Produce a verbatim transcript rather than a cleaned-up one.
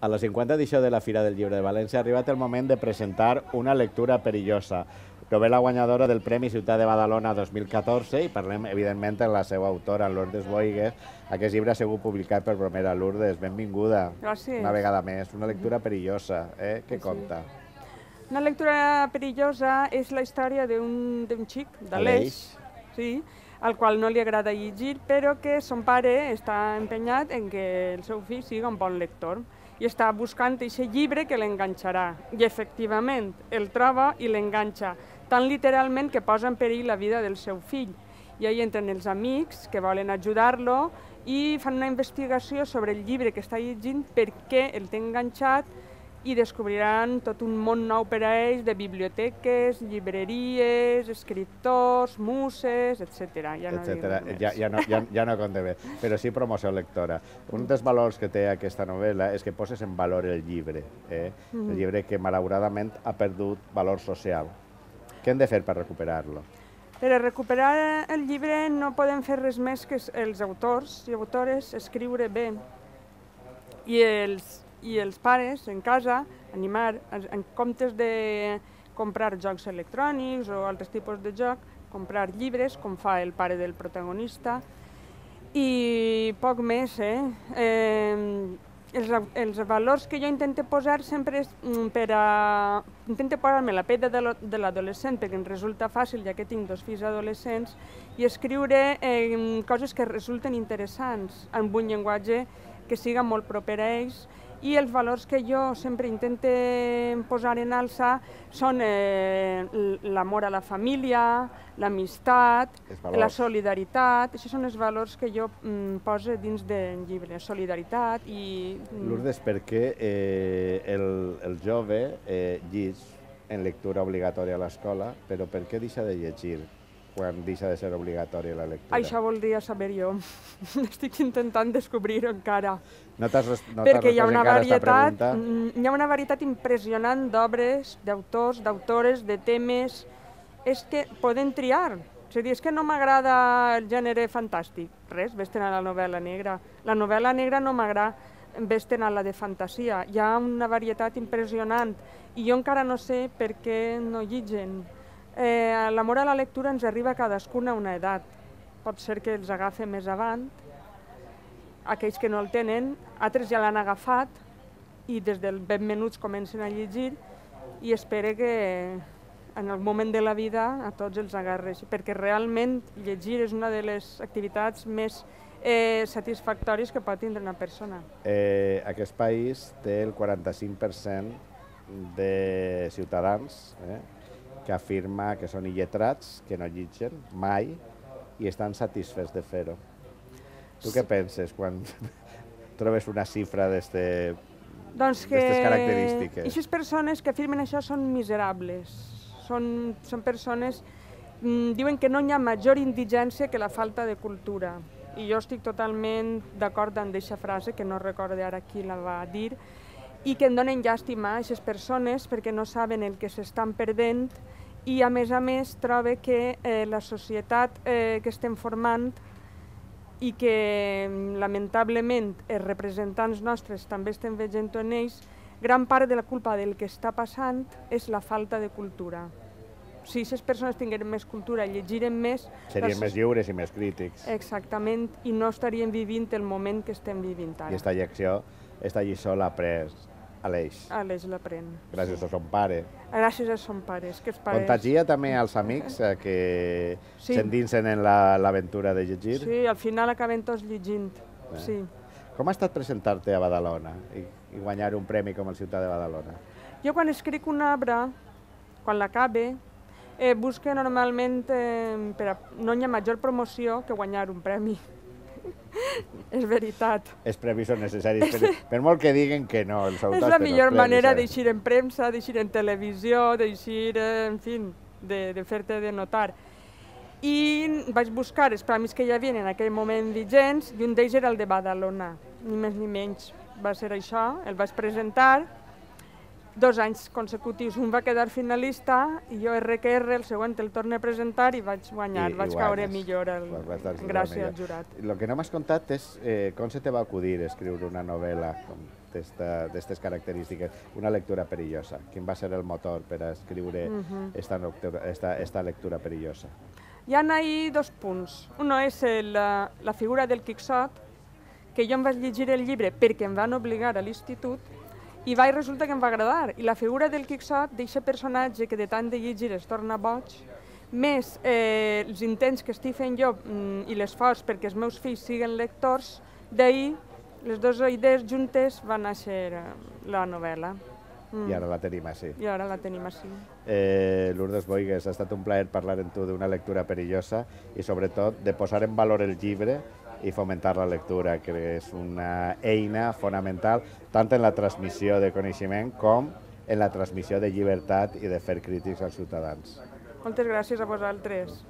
A la cinquanta edició de la Fira del Llibre de València ha arribat el moment de presentar una lectura perillosa, novel·la guanyadora del Premi Ciutat de Badalona dos mil catorze, i parlem, evidentment, amb la seva autora, Lourdes Boigues. Aquest llibre ha sigut publicat per Bromera. Lourdes, benvinguda. Gràcies. Una vegada més. Una lectura perillosa, eh? Què conta? Una lectura perillosa és la història d'un xic, d'Aleix, sí, al qual no li agrada llegir, però que son pare està empenyat en que el seu fill sigui un bon lector i està buscant aquest llibre que l'enganxarà. I efectivament el troba i l'enganxa, tan literalment que posa en perill la vida del seu fill. I ahí entren els amics que volen ajudar-lo i fan una investigació sobre el llibre que està llegint, per què el té enganxat, i descobriran tot un món nou per a ells de biblioteques, llibreries, escriptors, muses, etcètera. Ja no dic res més. Ja, ja, no, ja, ja no compte bé, però sí promoció lectora. Un dels valors que té aquesta novel·la és que poses en valor el llibre, eh? El llibre que malauradament ha perdut valor social. Què hem de fer per recuperar-lo? Per a recuperar el llibre no podem fer res més que els autors i autores escriure bé. I els i els pares, en casa, animar, en comptes de comprar jocs electrònics o altres tipus de joc, comprar llibres, com fa el pare del protagonista, i poc més, eh? Els, els valors que jo intento posar sempre és per a... Intento posar-me la pell de l'adolescent, perquè em resulta fàcil, ja que tinc dos fills adolescents, i escriure eh, coses que resulten interessants, amb un llenguatge que siga molt proper a ells. I els valors que jo sempre intento posar en alça són eh, l'amor a la família, l'amistat, la solidaritat. Aquests són els valors que jo mm, poso dins del llibre, solidaritat i... Lourdes, per què eh, el, el jove eh, llig en lectura obligatòria a l'escola, però per què deixa de llegir quan deixa de ser obligatòria la lectura? Això voldria saber jo. Estic intentant descobrir-ho encara. No t'has no Perquè hi ha una encara esta pregunta? Hi ha una varietat impressionant d'obres, d'autors, d'autores, de temes. És que poden triar. És a dir, és que no m'agrada el gènere fantàstic. Res, vés-te'n a la novel·la negra. La novel·la negra no m'agrada, vés-te'n a la de fantasia. Hi ha una varietat impressionant i jo encara no sé per què no lligen. Eh, L'amor a la lectura ens arriba a cadascuna a una edat. Pot ser que els agafi més avant, aquells que no el tenen, altres ja l'han agafat i des del ben menuts comencen a llegir i espero que en el moment de la vida a tots els agarres, perquè realment llegir és una de les activitats més eh, satisfactòries que pot tindre una persona. Eh, aquest país té el quaranta-cinc per cent de ciutadans eh, que afirma que són il·letrats, que no llitgen mai i estan satisfets de fer-ho. Tu què penses quan trobes una xifra d'aquestes característiques? Doncs que aquestes persones que afirmen això són miserables. Són, són persones... Mmm, diuen que no hi ha major indigència que la falta de cultura. I jo estic totalment d'acord amb aquesta frase, que no recordo ara qui la va dir, i que em donen llàstima a aquestes persones perquè no saben el que s'estan perdent i, a més a més, trobo que eh, la societat eh, que estem formant i que, lamentablement, els representants nostres també estem veient en ells, gran part de la culpa del que està passant és la falta de cultura. Si aquestes persones tingueren més cultura, llegiren més... Serien més lliures i més crítics. Exactament, i no estarien vivint el moment que estem vivint ara. I aquesta lliçó, aquesta lliçó l'ha pres Aleix. Aleix l'aprèn. Gràcies a son pare. Gràcies a son pares. Contagia també als amics que s'endinsen en l'aventura de llegir? Sí, al final acaben tots llegint. Com ha estat presentar-te a Badalona i guanyar un premi com el Ciutat de Badalona? Jo quan escric una obra, quan l'acabe, busco normalment, no hi ha major promoció que guanyar un premi. És veritat. Els premis són necessaris, per molt que diguen que no, els autors... És la millor manera d'eixir en premsa, d'eixir en televisió, d'eixir, en fi, de fer-te de notar. I vaig buscar els premis que hi havia en aquell moment vigents, i un d'ells era el de Badalona, ni més ni menys. Va ser això, el vaig presentar, dos anys consecutius. Un va quedar finalista i jo erre que erre, el següent el torno a presentar i vaig guanyar, I, vaig i caure guanyes. millor el, gràcies al jurat. El que no m'has contat és eh, com se te va acudir escriure una novel·la d'aquestes característiques, una lectura perillosa. Quin va ser el motor per a escriure uh-huh. esta, esta, esta lectura perillosa? Hi ha ahí dos punts. Un és el, la figura del Quixot, que jo em vaig llegir el llibre perquè em van obligar a l'institut i vaig resulta que em va agradar. I la figura del Quixot, d'aquest personatge que de tant de llegir es torna boig, més eh, els intents que estic fent jo mm, i l'esforç perquè els meus fills siguin lectors, d'ahir les dues idees juntes van néixer eh, la novel·la. Mm. I ara la tenim així. I ara la tenim així. Eh, Lourdes Boigues, ha estat un plaer parlar amb tu d'una lectura perillosa i sobretot de posar en valor el llibre i fomentar la lectura, que és una eina fonamental tant en la transmissió de coneixement com en la transmissió de llibertat i de fer crítics als ciutadans. Moltes gràcies a vosaltres.